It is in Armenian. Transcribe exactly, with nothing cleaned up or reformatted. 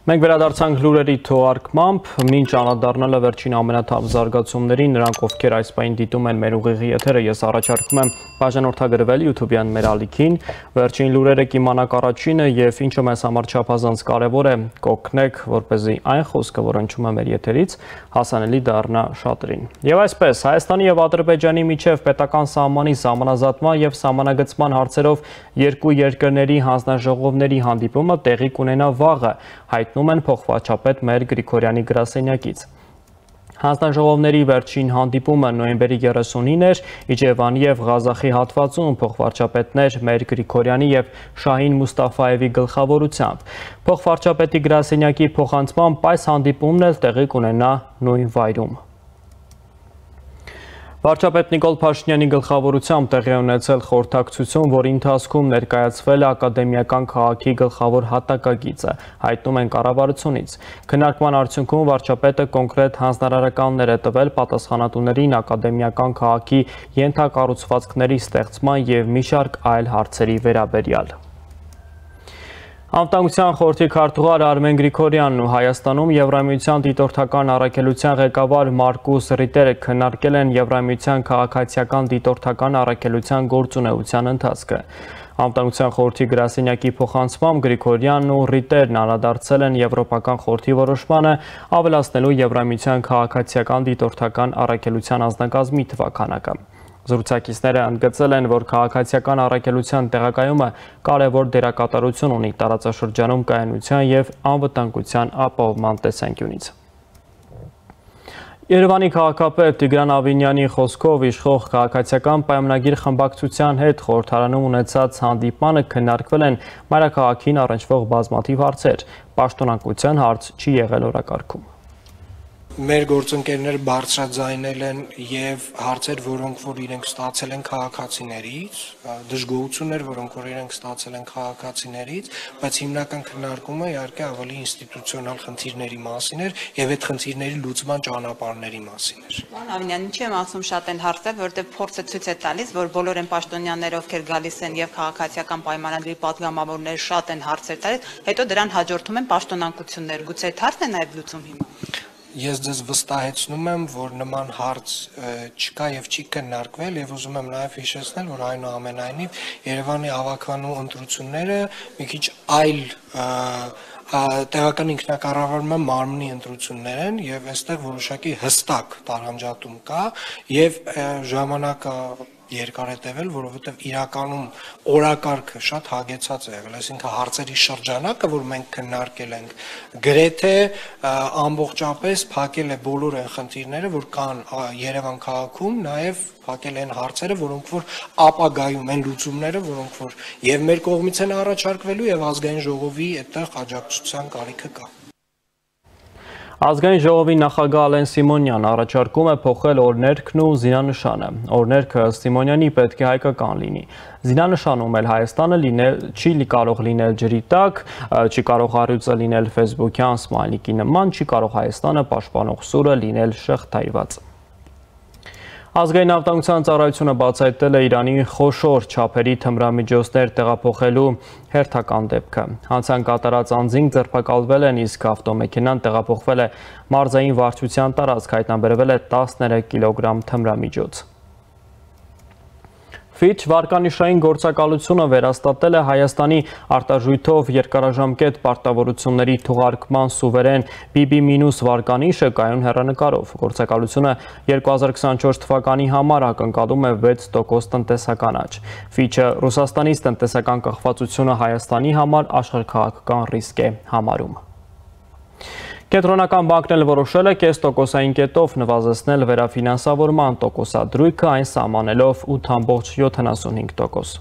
Մենք վերադարձանք լուրերի թողարկմամբ, մինչ անդրադառնալը վերջին ամենաթավ զարգացումներին, նրանք ովքեր այս պահին դիտում են մեր ուղիղի եթերը, ես առաջարկում եմ բաժանորդագրվել YouTube-յան մեր ալիքին, վերջին լուրերը կիմանաք առաջինը եւ ինչը մեզ համար չափազանց կարեւոր է, կօգնեք, որպեսզի այն խոսքը, որ հնչում է մեր եթերից, հասանելի դառնա շատերին։ Եվ այսպես, Հայաստանի եւ Ադրբեջանի միջև պետական սահմանի սահմանազատման եւ սահմանագծման հարցերով երկու երկրների հանձնաժողովների հանդիպումը տեղի կունենա վաղը, հայտնում են փոխվարչապետ Մեր Գրիգորյանի գրասենյակից։ Հանձնաժողովների վերջին հանդիպումը նոյեմբերի երեսունին էր Իջևանի եւ Ղազախի հատվածում փոխվարչապետներ Մեր Գրիգորյանի եւ Շահին Մուստաֆաևի գլխավորությամբ։ Փոխվարչապետի գրասենյակի փոխանցմամբ այս հանդիպումն էլ տեղի կունենա նույն վայրում։ Վարչապետ Նիկոլ Փաշինյանի գլխավորությամբ տեղի ունեցել խորհրդակցություն, որի ընթացքում ներկայացվել է ակադեմիական քաղաքի գլխավոր հատակագիծը, հայտնում են կառավարությունից։ Քննարկման արդյունքում վարչապետը կոնկրետ հանձնարարականներ է տվել պատասխանատուներին ակադեմիական քաղաքի ենթակառուցվածքների ստեղծման եւ մի շարք այլ հարցերի վերաբերյալ։ Անվտանգության խորհրդի քարտուղար Արմեն Գրիգորյանն ու Հայաստանում Եվրամիության դիտորդական առաքելության ղեկավար Մարկուս Ռիտերը քննարկել են Եվրամիության քաղաքացիական դիտորդական առաքելության գործունեության ընթացքը։ Անվտանգության խորհրդի գրասենյակի փոխանցմամբ Գրիգորյանն ու Ռիտերն անդրադարձել են Եվրոպական խորհրդի որոշմանը ավելացնելու Եվրամիության քաղաքացիական դիտորդական առաքելության անձնակազմի թվաքանակը։ Զրուցակիցները ընդգծել են, որ քաղաքացիական առաքելության տեղակայումը կարևոր դերակատարություն ունի տարածաշրջանում կայունության եւ անվտանգության ապահովման տեսանկյունից։ Երևանի քաղաքապետ Տիգրան Ավինյանի խոսքով իշխող քաղաքացիական պայմանագիր խմբակցության հետ խորհրդարանում ունեցած հանդիպմանը քննարկվել են մայրաքաղաքին առնչվող բազմաթիվ հարցեր։ Պաշտոնակության հարց չի եղել օրակարգում։ Մեր գործընկերները բարձրաձայնել են եւ հարցեր, որոնք որ իրենք ստացել են քաղաքացիներից, դժգոհություններ, որոնք որ իրենք ստացել են քաղաքացիներից, բայց հիմնական քննարկումը իհարկե ավելի ինստիտուցիոնալ խնդիրների մասին էր եւ այդ խնդիրների լուծման ճանապարհների մասին էր։ Պարոն Ավինյան, ինչի եմ ասում շատ են հարցեր, որտեղ փորձը ցույց է տալիս, որ բոլոր են պաշտոնյաները, ովքեր գալիս են եւ քաղաքացիական պայմանագրի պատգամավորները շատ են հարցեր տալիս, հետո դրան հաջորդում են պաշտոնակություններ։ Գուցե այդ հարցն է նաեւ լուծում հիմա։ Ես ձեզ վստահեցնում եմ, որ նման հարց չկա եւ չի քննարկվել եւ ուզում եմ նաեւ հիշեցնել, որ այնուամենայնիվ Երևանի ավականու ընտրությունները մի քիչ այլ տեղական ինքնակառավարման մարմնի ընտրություններ են եւ այստեղ որոշակի հստակ տարանջատում կա եւ ժամանակը երկար է տևել, որովհետև իրականում օրակարգը շատ հագեցած է եղել, այսինքն հարցերի շրջանակը, որ մենք քննարկել ենք, գրեթե ամբողջապես փակել է բոլոր այն խնդիրները, որ կան Երևան քաղաքում, նաև փակել են հարցերը, որոնք որ ապագայում են լուծումները, որոնք որ եւ մեր կողմից են առաջարկվելու եւ ազգային ժողովի այդտեղ աջակցության կարիքը կա։ Ազգային ժողովի նախագահ Ալեն Սիմոնյան առաջարկում է փոխել օրներքն ու զինանշանը։ Օրներքը Սիմոնյանի պետք է հայկական լինի։ Զինանշանում էլ Հայաստանը լինել չի կարող լինել ջրի տակ, չի կարող առյուծը լինել ֆեյսբուքյան սմայլիկի նման, չի կարող Հայաստանը պաշտպանող սուրը լինել շղթայված։ Ազգային անվտանգության ծառայությունը բացահայտել է Իրանի խոշոր չափերի թմրամիջոցներ տեղափոխելու հերթական դեպքը։ Հանցան կատարած անձինք ձերբակալվել են, իսկ ավտոմեքենան տեղափոխվել է մարզային վարչության տարածք, հայտնաբերվել է տասներեք կիլոգրամ թմրամիջոց։ Ֆիչ վարկանիշային գործակալությունը վերաստատել է Հայաստանի արտաժույթով երկարաժամկետ պարտավորությունների թողարկման սուվերեն բի բի մինուս վարկանիշը կայուն հեռանկարով։ Գործակալությունը երկու հազար քսանչորս թվականի համար ակնկալում է վեց տոկոս տնտեսական աճ։ Ֆիչը Ռուսաստանից տնտեսական կախվածությունը Հայաստանի համար աշխարհաքաղաքական ռիսկ է համարում։ Կենտրոնական բանկն էլ որոշել է կես տոկոսային կետով նվազեցնել վերաֆինանսավորման տոկոսադրույքը, այն սահմանելով ութ կόμμα յոթանասունհինգ տոկոս։